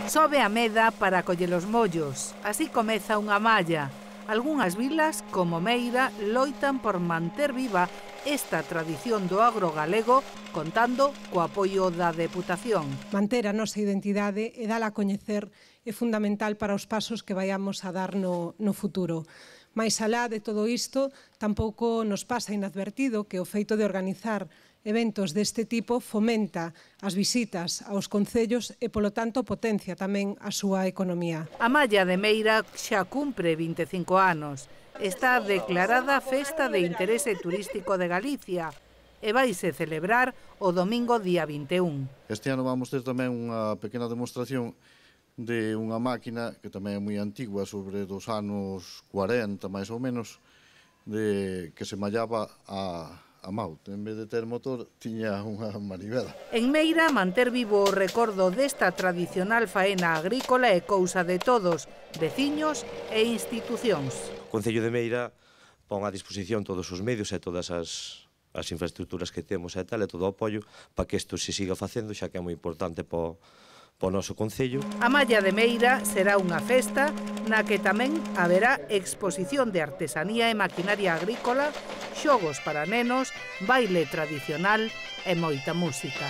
Sobe a meda para coller os mollos. Así comeza unha malla. Algunhas vilas, como Meira, loitan por manter viva esta tradición do agro galego, contando co apoio da Deputación. Manter a nosa identidade e dala a coñecer é fundamental para os pasos que vaiamos a dar no futuro. Mais alá de todo isto, tampouco nos pasa inadvertido que o feito de organizar eventos deste tipo fomenta as visitas aos concellos e, polo tanto, potencia tamén a súa economía. A malla de Meira xa cumpre 25 anos. Está declarada Festa de Interese Turístico de Galicia e vaise celebrar o domingo día 21. Este ano vamos ter tamén unha pequena demostración de unha máquina que tamén é moi antigua, sobre dos anos 40 máis ou menos, que se mallaba a mau. En vez de ter motor, tiña unha manivela. En Meira, manter vivo o recordo desta tradicional faena agrícola é cousa de todos, veciños e institucións. O Concello de Meira pon a disposición todos os medios e todas as infraestructuras que temos e tal, e todo o apoio para que isto se siga facendo, xa que é moi importante para o noso concello. A malla de Meira será unha festa na que tamén haberá exposición de artesanía e maquinaria agrícola, xogos para nenos, baile tradicional e moita música.